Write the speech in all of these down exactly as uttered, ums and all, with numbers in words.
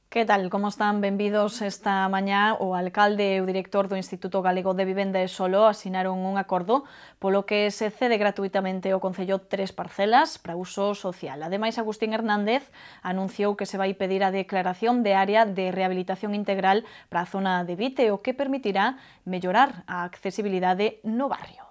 Que tal? Como están? Benvidos esta mañá. O alcalde e o director do Instituto Galego de Vivenda e Solo asinaron un acordo polo que se cede gratuitamente ao Concello tres parcelas para uso social. Ademais, Agustín Hernández anunciou que se vai pedir a declaración de área de rehabilitación integral para a zona de Vite, o que permitirá mellorar a accesibilidade no barrio.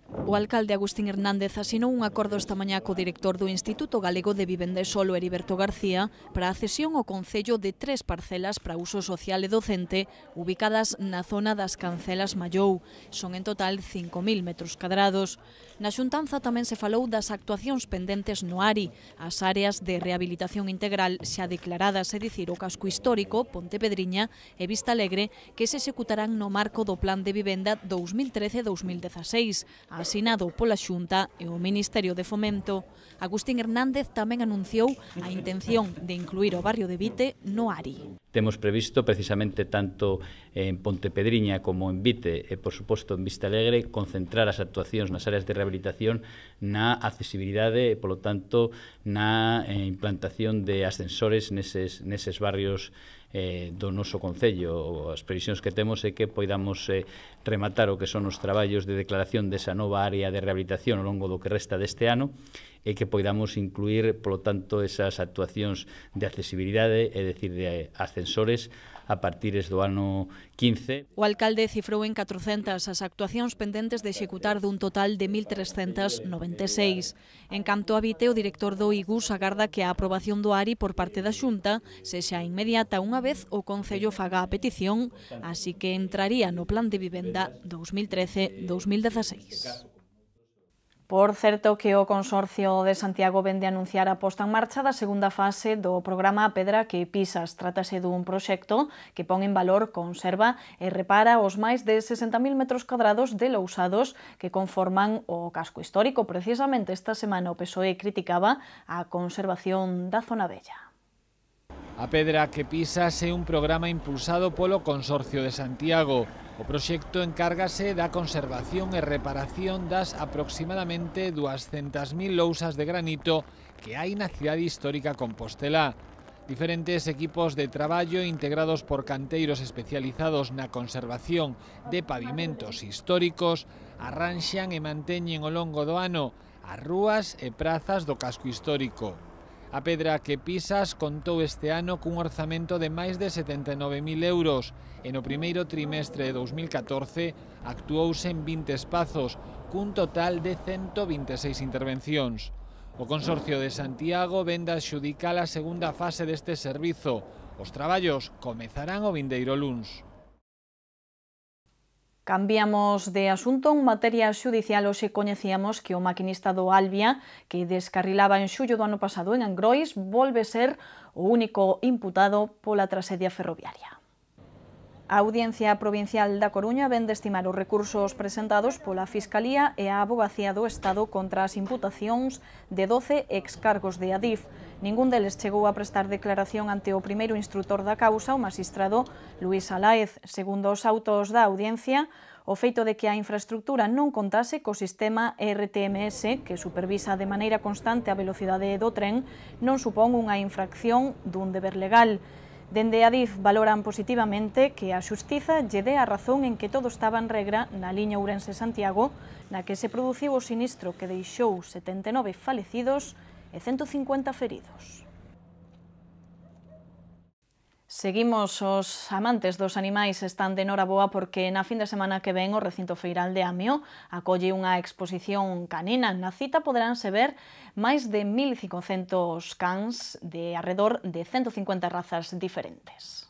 O alcalde Agustín Hernández asinou un acordo esta mañá co director do Instituto Galego de Vivenda e Solo, Heriberto García, para a cesión ao Concello de tres parcelas para uso social e docente ubicadas na zona das Cancelas Mallou. Son en total cinco mil metros cadrados. Na xuntanza tamén se falou das actuacións pendentes no ARI, as áreas de rehabilitación integral xa declaradas, é dicir, o casco histórico, Pontepedriña e Vista Alegre, que se executarán no marco do Plan de Vivenda dous mil trece a dous mil dezaseis, asinado pola Xunta e o Ministerio de Fomento. Agustín Hernández tamén anunciou a intención de incluir o barrio de Vite no ARI. Temos previsto precisamente tanto en Pontepedriña como en Vite e, por suposto, en Vista Alegre, concentrar as actuacións nas áreas de rehabilitación na accesibilidade e, polo tanto, na implantación de ascensores neses, neses barrios eh, do noso Concello. As previsións que temos é que poidamos eh, rematar o que son os traballos de declaración desa nova área de rehabilitación ao longo do que resta deste ano e que poidamos incluir, polo tanto, esas actuacións de accesibilidade, é dicir, de ascensores, a partires do ano quince. O alcalde cifrou en catrocentas as actuacións pendentes de executar dun total de mil trescentas noventa e seis. En canto a Vite, o director do I G U S agarda que a aprobación do ARI por parte da Xunta sexa inmediata unha vez o Concello faga a petición, así que entraría no Plan de Vivenda dous mil trece a dous mil dezaseis. Por certo que o Consorcio de Santiago vende a anunciar a posta en marcha da segunda fase do programa A Pedra que Pisas. Trátase dun proxecto que pon en valor, conserva e repara os máis de sesenta mil metros cadrados de lousados que conforman o casco histórico. Precisamente esta semana o P S O E criticaba a conservación da zona vella. A Pedra que Pisas é un programa impulsado polo Consorcio de Santiago. O proxecto encárgase da conservación e reparación das aproximadamente duascentas mil lousas de granito que hai na cidade histórica compostelá. Diferentes equipos de traballo integrados por canteiros especializados na conservación de pavimentos históricos arranxan e manteñen ao longo do ano as rúas e prazas do casco histórico. A Pedra que Pisas contou este ano cun orzamento de máis de setenta e nove mil euros e no primeiro trimestre de dous mil catorce actuouse en vinte espazos, cun total de cento vinte e seis intervencións. O Consorcio de Santiago vende a adxudicar a segunda fase deste servizo. Os traballos comezarán o vindeiro luns. Cambiamos de asunto. En materia xudicial, hoxe coñecíamos que o maquinista do Albia, que descarrilaba en xullo do ano pasado en Angrois, volve ser o único imputado pola traxedia ferroviaria. A Audiencia Provincial da Coruña ven de estimar os recursos presentados pola Fiscalía e a Avogacía do Estado contra as imputacións de doce excargos de Adif. Ningún deles chegou a prestar declaración ante o primeiro instrutor da causa, o magistrado Luís Alaez. Segundo os autos da audiencia, o feito de que a infraestructura non contase co sistema R T M S, que supervisa de maneira constante a velocidade do tren, non supón unha infracción dun deber legal. Dende Adif valoran positivamente que a Xustiza lle dé a razón en que todo estaba en regra na liña Ourense-Santiago, na que se produciu o sinistro que deixou setenta e nove falecidos e cento cincuenta feridos. Seguimos. Os amantes dos animais están de noraboa porque na fin de semana que ven o recinto feiral de Amio acolle unha exposición canina. Na cita poderánse ver máis de mil cincocentos cans de arredor de cento cincuenta razas diferentes.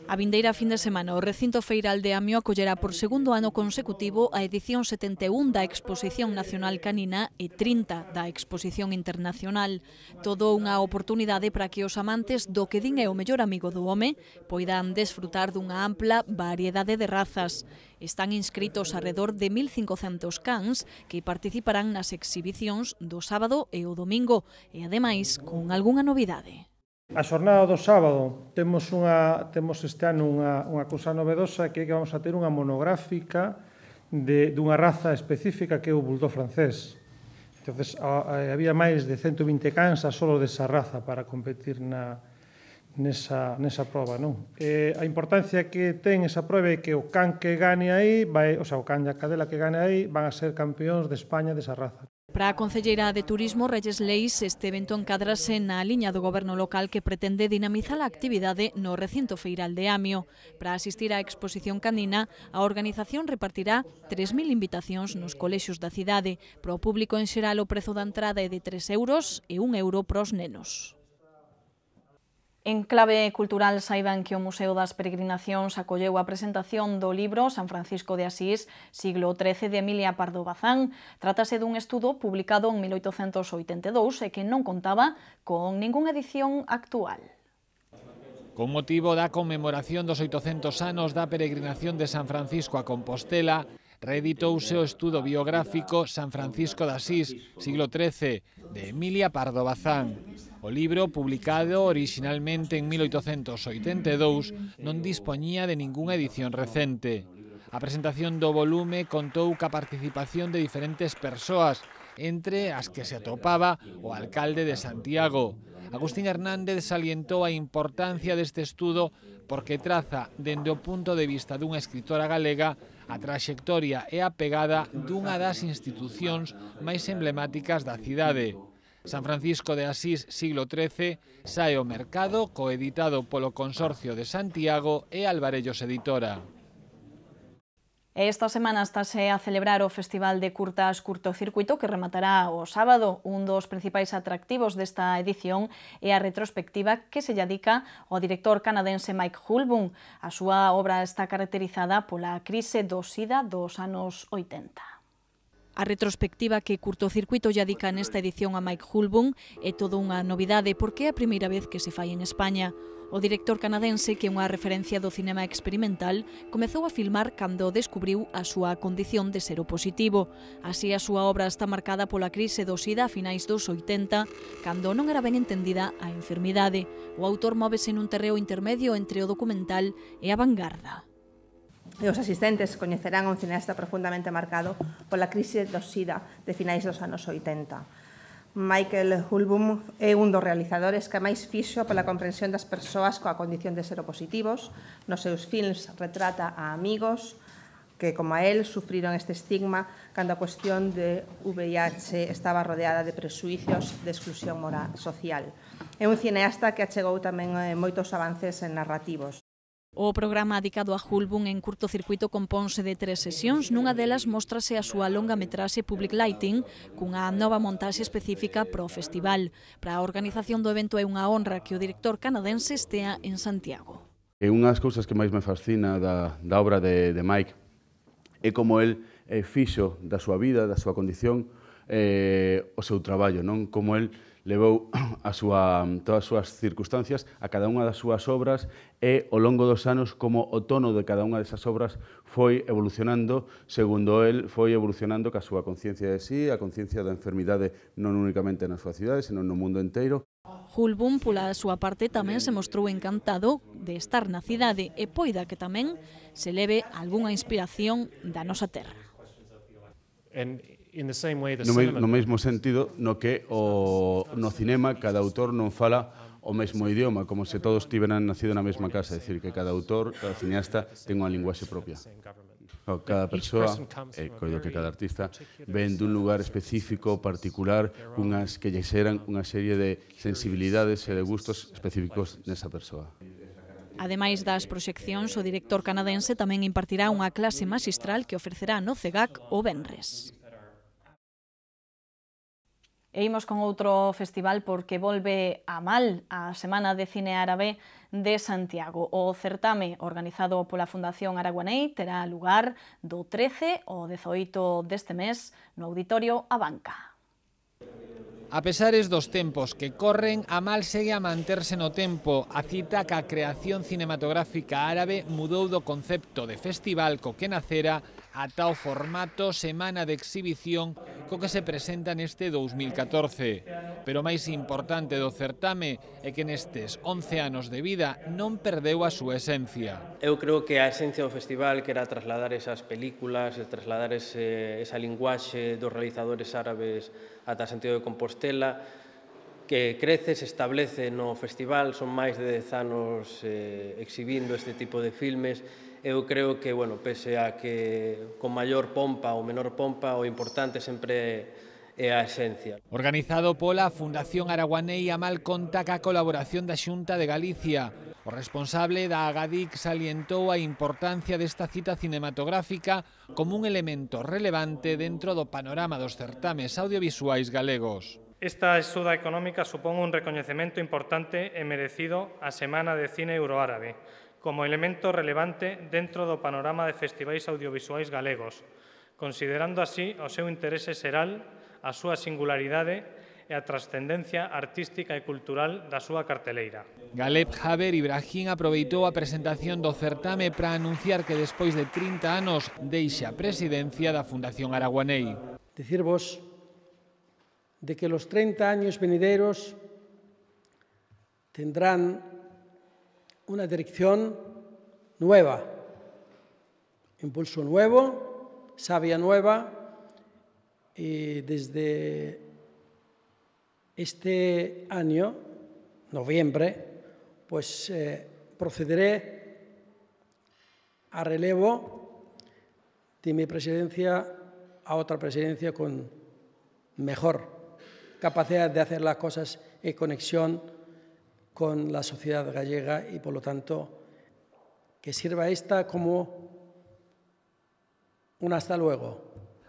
A vindeira fin de semana, o recinto feiral de Amio acollerá por segundo ano consecutivo a edición setenta e un da Exposición Nacional Canina e trinta da Exposición Internacional. Todo unha oportunidade para que os amantes do que din é o mellor amigo do home poidan desfrutar dunha ampla variedade de razas. Están inscritos arredor de mil cincocentos cans que participarán nas exhibicións do sábado e o domingo e, ademais, con algunha novidade. A xornada do sábado temos, unha, temos este ano unha, unha cousa novedosa, que é que vamos a ter unha monográfica de, dunha raza específica que é o bulldog francés. Entonces, a, a, había máis de cento vinte cans a solo desa raza para competir na, nesa, nesa proba, non? Eh, a importancia que ten esa proba é que o can que gane aí, vai, o sea, o can e a cadela que gane aí van a ser campeóns de España desa raza. Para a Concelleira de Turismo, Reyes Leis, este evento encadrase na liña do goberno local que pretende dinamizar a actividade no recinto feiral de Amio. Para asistir á exposición canina, a organización repartirá tres mil invitacións nos colexios da cidade. Para o público en xeral, o prezo da entrada é de tres euros e un euro pros nenos. En clave cultural, saiban que o Museo das Peregrinacións acolleu a presentación do libro San Francisco de Asís, siglo trece, de Emilia Pardo Bazán. Trátase dun estudo publicado en mil oitocentos oitenta e dous e que non contaba con ningunha edición actual. Con motivo da conmemoración dos oitocentos anos da peregrinación de San Francisco a Compostela, reeditouse o estudo biográfico San Francisco de Asís, siglo trece, de Emilia Pardo Bazán. O libro, publicado orixinalmente en mil oitocentos oitenta e dous, non dispoñía de ningunha edición recente. A presentación do volume contou ca participación de diferentes persoas, entre as que se atopaba o alcalde de Santiago. Agustín Hernández salientou a importancia deste estudo porque traza, dende o punto de vista dunha escritora galega, a traxectoria e a pegada dunha das institucións máis emblemáticas da cidade. San Francisco de Asís, siglo trece, sae ao mercado coeditado polo Consorcio de Santiago e Alvarellos Editora. Esta semana estáse a celebrar o Festival de Curtas Curtocircuito que rematará o sábado. Un dos principais atractivos desta edición é a retrospectiva que se dedica ao director canadense Mike Hulbum. A súa obra está caracterizada pola crise do SIDA dos anos oitenta. A retrospectiva que Curtocircuito lle dedica nesta edición a Mike Hulbum é toda unha novidade porque é a primeira vez que se fai en España. O director canadense, que é unha referencia do cinema experimental, comezou a filmar cando descubriu a súa condición de seropositivo. Así, a súa obra está marcada pola crise do SIDA a finais dos oitenta, cando non era ben entendida a enfermidade. O autor móvese nun terreo intermedio entre o documental e a vanguarda. E os asistentes coñecerán un cineasta profundamente marcado pola crise do SIDA de finais dos anos oitenta. Michael Hulbum é un dos realizadores que máis fixo pola comprensión das persoas coa condición de seropositivos. Nos seus films retrata a amigos que, como a él, sufriron este estigma cando a cuestión de V I H estaba rodeada de presuicios de exclusión moral social. É un cineasta que achegou tamén moitos avances narrativos. O programa dedicado a Hulbum en Curtocircuito compónse de tres sesións. Nunha delas móstrase a súa longa metraxe Public Lighting cunha nova montaxe específica para o festival. Para a organización do evento é unha honra que o director canadense estea en Santiago. E unha das cousas que máis me fascina da, da obra de, de Mike é como el eh, fixo da súa vida, da súa condición, eh, o seu traballo, non? Como el levou a súa, todas as súas circunstancias a cada unha das súas obras e ao longo dos anos como o tono de cada unha desas obras foi evolucionando, segundo el foi evolucionando ca súa conciencia de sí, a conciencia da enfermidade non únicamente na súa cidade, senón no mundo inteiro. Hulbum, pola súa parte, tamén se mostrou encantado de estar na cidade e poida que tamén se leve algunha inspiración da nosa terra. No, me, no mesmo sentido no que o, no cinema cada autor non fala o mesmo idioma, como se todos tiveran nacido na mesma casa, é dicir, que cada autor, cada cineasta ten unha linguaxe propia. Cada persoa, e coido que cada artista, ven dun lugar específico, particular, unhas que lle xeran unha serie de sensibilidades e de gustos específicos nesa persoa. Ademais das proxeccións, o director canadense tamén impartirá unha clase maxistral que ofrecerá no CEGAC o venres. E imos con outro festival porque volve a Mal, a Semana de Cine Árabe de Santiago. O certame organizado pola Fundación Araguanei terá lugar do trece ao dezoito deste mes no Auditorio A Banca. A pesares dos tempos que corren, a Mal segue a manterse no tempo. A cita ca creación cinematográfica árabe mudou do concepto de festival co que nacera ata o formato semana de exhibición co que se presenta neste dous mil catorce. Pero o máis importante do certame é que nestes once anos de vida non perdeu a súa esencia. Eu creo que a esencia do festival, que era trasladar esas películas, trasladar ese, esa linguaxe dos realizadores árabes ata Santiago de Compostela, que crece, se establece no festival, son máis de dez anos eh, exhibindo este tipo de filmes. Eu creo que, bueno, pese a que con maior pompa ou menor pompa, o importante sempre é a esencia. Organizado pola Fundación Araguanei, Amal conta ca colaboración da Xunta de Galicia. O responsable da Agadic salientou a importancia desta cita cinematográfica como un elemento relevante dentro do panorama dos certames audiovisuais galegos. Esta axuda económica supón un recoñecemento importante e merecido á Semana de Cine Euroárabe, como elemento relevante dentro do panorama de festivais audiovisuais galegos, considerando así o seu interese xeral, a súa singularidade e a trascendencia artística e cultural da súa carteleira. Galeb Jaber Ibrahim aproveitou a presentación do certame para anunciar que despois de trinta anos deixa a presidencia da Fundación Araguanei. Decirvos de que los treinta años venideros tendrán una dirección nueva, impulso nuevo, savia nueva, y desde este año, noviembre, pues eh, procederé a relevo de mi presidencia a otra presidencia con mejor capacidad de hacer las cosas en conexión con la sociedad gallega y, por lo tanto, que sirva esta como un hasta luego.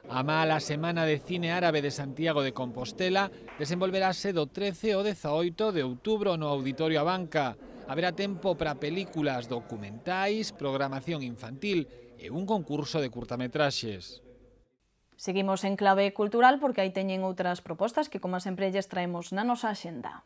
A mala Semana de Cine Árabe de Santiago de Compostela desenvolverase do trece ao dezaoito de outubro no Auditorio Abanca. Haberá tempo para películas, documentais, programación infantil e un concurso de curtametraxes. Seguimos en clave cultural porque aí teñen outras propostas que, como sempre, lles traemos na nosa axenda.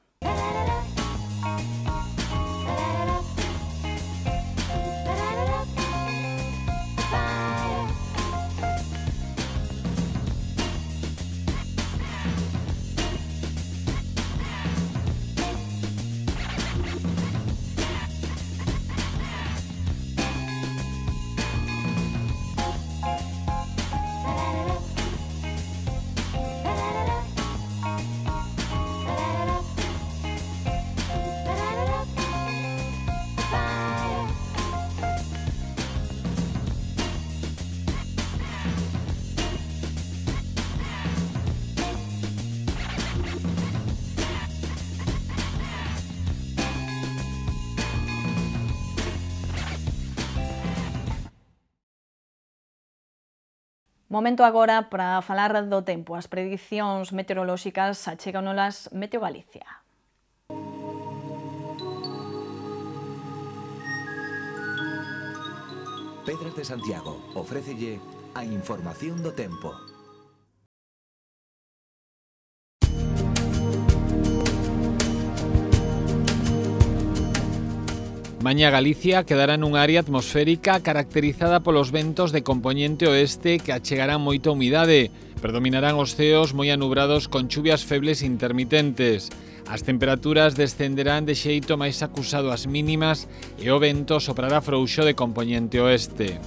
Momento agora para falar do tempo. As predicións meteorolóxicas achéganos Meteo Galicia. Pedras de Santiago ofrécelle a información do tempo. Mañá Galicia quedará nunha área atmosférica caracterizada polos ventos de compoñente oeste que achegarán moita humidade. Predominarán os ceos moi anubrados con chuvias febles intermitentes. As temperaturas descenderán de xeito máis acusado ás mínimas e o vento soprará frouxo de compoñente oeste.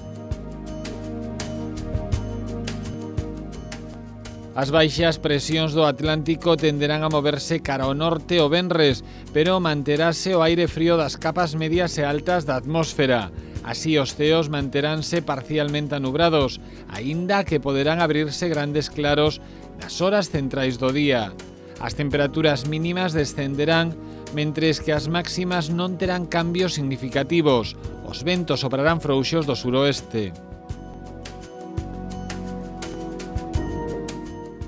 As baixas presións do Atlántico tenderán a moverse cara ao norte o venres, pero manterase o aire frío das capas medias e altas da atmósfera. Así os ceos manteránse parcialmente anubrados, aínda que poderán abrirse grandes claros nas horas centrais do día. As temperaturas mínimas descenderán, mentres que as máximas non terán cambios significativos. Os ventos soprarán frouxos do suroeste.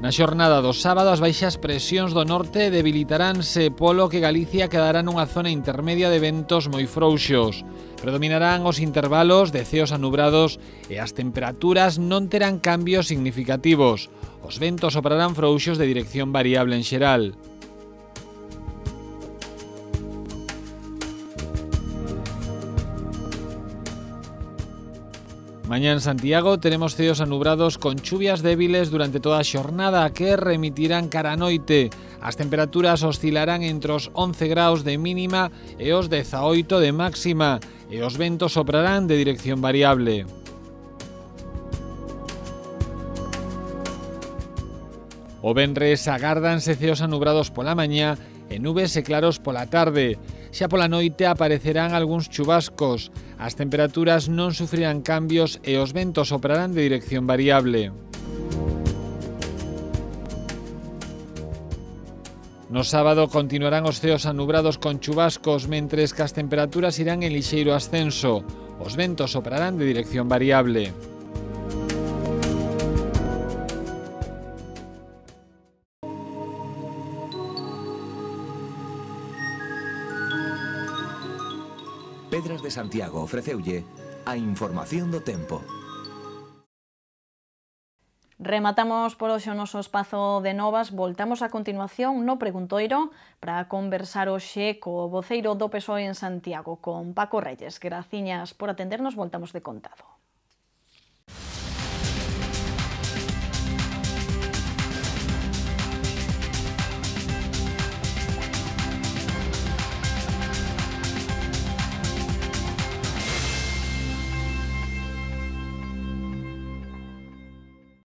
Na xornada do sábado, as baixas presións do norte debilitaránse, polo que Galicia quedará nunha zona intermedia de ventos moi frouxos. Predominarán os intervalos de ceos anubrados e as temperaturas non terán cambios significativos. Os ventos soprarán frouxos de dirección variable en xeral. Mañá en Santiago teremos ceos anubrados con chuvias débiles durante toda a xornada que remitirán cara a noite. As temperaturas oscilarán entre os once graus de mínima e os dezaoito de máxima e os ventos soprarán de dirección variable. O venres agárdanse ceos anubrados pola mañá e nubes e claros pola tarde. Xa pola noite aparecerán algúns chubascos. As temperaturas non sufrirán cambios e os ventos soprarán de dirección variable. No sábado continuarán os ceos anubrados con chubascos, mentres que as temperaturas irán en lixeiro ascenso. Os ventos soprarán de dirección variable. Pedras de Santiago ofreceulle a información do tempo. Rematamos por hoxe o noso espazo de novas. Voltamos a continuación no Preguntoiro para conversar hoxe co voceiro do P S O E en Santiago, con Paco Reyes. Graciñas por atendernos, voltamos de contado.